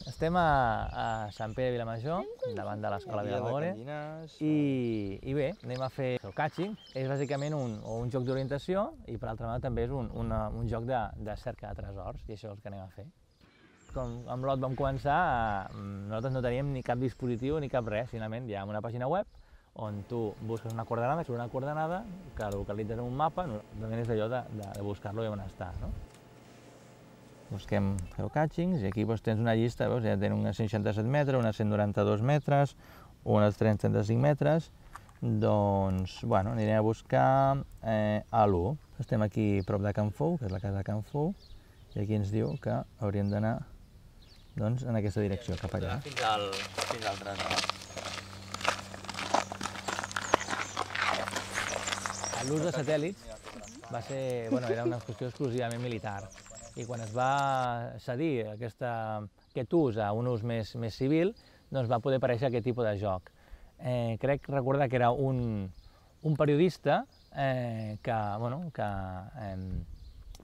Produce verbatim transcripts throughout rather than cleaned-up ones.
Estem a Sant Pere de Vilamajor, davant de l'escola Vilagore, i bé, anem a fer geocaching. És bàsicament un joc d'orientació i per altra banda també és un joc de cerca de tresors, i això és el que anem a fer. Com amb l'Ot vam començar, nosaltres no teníem ni cap dispositiu ni cap res, finalment hi ha una pàgina web on tu busques una coordenada, surt una coordenada que localitzes en un mapa, normalment és allò de buscar-lo i on està. Busquem geocachings i aquí tens una llista, veus, ja tenen unes seixanta-set metres, unes cent noranta-dos metres, unes tres-cents trenta-cinc metres, doncs, bueno, anirem a buscar a l'u. Estem aquí prop de Can Fou, que és la casa de Can Fou, i aquí ens diu que hauríem d'anar en aquesta direcció, cap allà. Fins al tresor. L'ús de satèl·lits va ser, bueno, era una qüestió exclusivament militar, i quan es va cedir aquest ús a un ús més civil, doncs va poder aparèixer aquest tipus de joc. Crec recordar que era un periodista que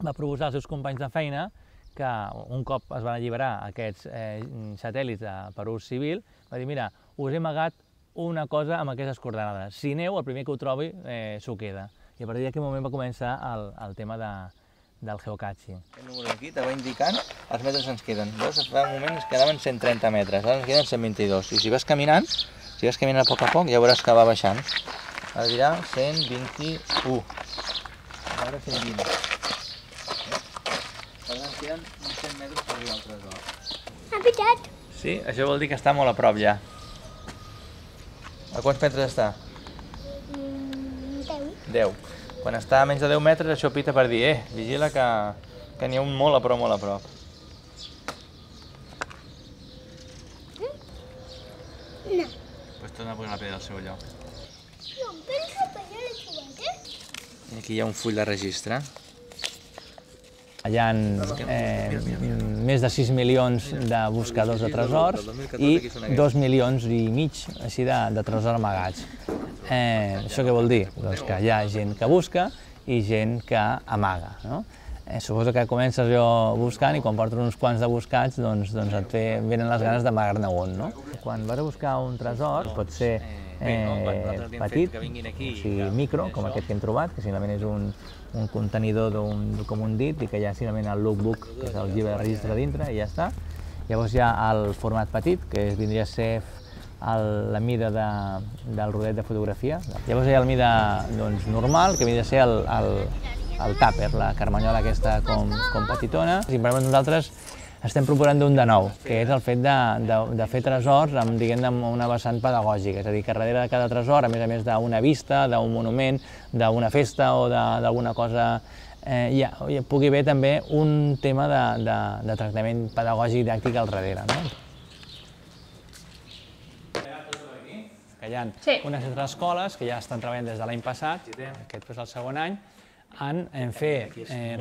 va proposar als seus companys de feina que un cop es van alliberar aquests satèl·lits per ús civil, va dir, mira, us he amagat una cosa amb aquestes coordenades. Si aneu, el primer que ho trobi s'ho queda. I a partir d'aquell moment va començar el tema del geocaching. Aquest número aquí te va indicant els metres que ens queden. Veus, fa un moment ens quedaven cent trenta metres, ara ens queden cent vint-i-dos. I si vas caminant, si vas caminant a poc a poc, ja veuràs que va baixant. Ara dirà cent vint-i-u. Ara cent vint. Per tant, ens queden uns cent metres per arribar al tresor. Ha picat? Sí, això vol dir que està molt a prop ja. A quants metres està? Deu. Deu. Quan està a menys de deu metres, això pita per dir, eh, vigila que n'hi ha un molt a prop, molt a prop. No. Doncs torna a posar la pedra al seu lloc. Jo em penso que ja l'he trobat, eh? I aquí hi ha un full de registre. Hi ha més de sis milions de buscadors de tresors i dos milions i mig de tresors amagats. Això què vol dir? Doncs que hi ha gent que busca i gent que amaga. Suposo que comences jo buscant i quan portes uns quants de buscats doncs et venen les ganes d'amagar-ne un. Quan vas a buscar un tresor pot ser petit, o sigui micro, com aquest que hem trobat, que simplement és un contenidor com un dit i que hi ha simplement el lookbook, que és el llibre de registre dintre, i ja està. Llavors hi ha el format petit, que vindria a ser la mida del rodet de fotografia. Llavors hi ha la mida normal, que vindria a ser el tàper, la carmanyola aquesta com petitona. Simplement nosaltres estem proposant d'un de nou, que és el fet de fer tresors amb una vessant pedagògica, és a dir, que darrere de cada tresor, a més a més d'una vista, d'un monument, d'una festa o d'alguna cosa, hi pugui haver també un tema de tractament pedagògic didàctic al darrere. Hi ha unes altres escoles que ja estan treballant des de l'any passat, aquest és el segon any, en fer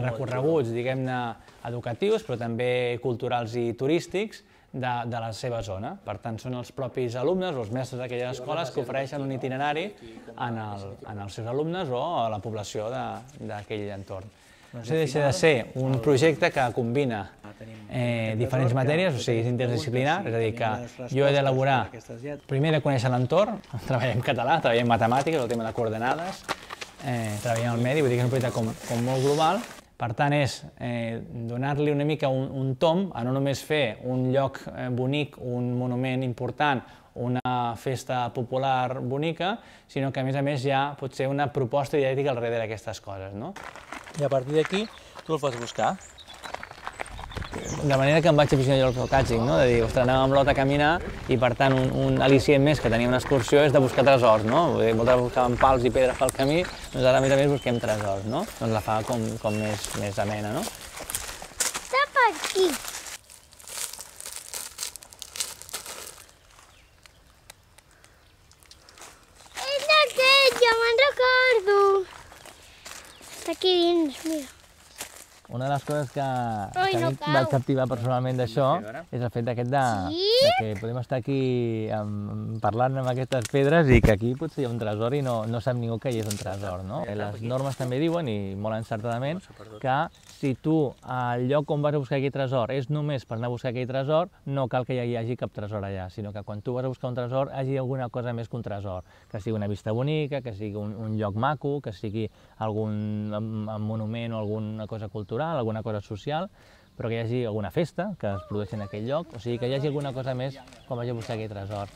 recorreguts, diguem-ne, educatius, però també culturals i turístics de la seva zona. Per tant, són els propis alumnes o els mestres d'aquelles escoles que ofereixen un itinerari als seus alumnes o a la població d'aquell entorn. Això deixa de ser un projecte que combina diferents matèries, o sigui, és interdisciplinar, és a dir, que jo he d'elaborar, primer de conèixer l'entorn, treballem català, treballem matemàtiques, el tema de coordenades, treballem al medi, vull dir que és un projecte com molt global. Per tant, és donar-li una mica un tomb a no només fer un lloc bonic, un monument important, una festa popular bonica, sinó que a més a més ja pot ser una proposta didàctica al darrere d'aquestes coses. I a partir d'aquí tu el pots buscar. De manera que em vaig aficionar jo al geocaching, de dir, ostres, anàvem amb l'Ot a caminar i per tant un al·licient més que tenia una excursió és de buscar tresors, no? Moltes vegades buscàvem pals i pedres pel camí, doncs ara a més a més busquem tresors, no? Doncs la fa com més amena, no? Està per aquí. És aquest, ja me'n recordo. Està aquí dins, mira. Una de les coses que a mi em va captivar personalment d'això és el fet d'aquest Que podem estar aquí um, parlant amb aquestes pedres i que aquí potser hi ha un tresor i no, no sap ningú que hi és un tresor, no? Les normes també diuen, i molt encertadament, que si tu al lloc on vas a buscar aquell tresor és només per anar a buscar aquell tresor, no cal que hi hagi cap tresor allà, sinó que quan tu vas a buscar un tresor hi hagi alguna cosa més que un tresor, que sigui una vista bonica, que sigui un, un lloc maco, que sigui algun monument o alguna cosa cultural, alguna cosa social, però que hi hagi alguna festa que es produeixi en aquell lloc, o sigui que hi hagi alguna cosa més quan vagi a buscar aquell tresor.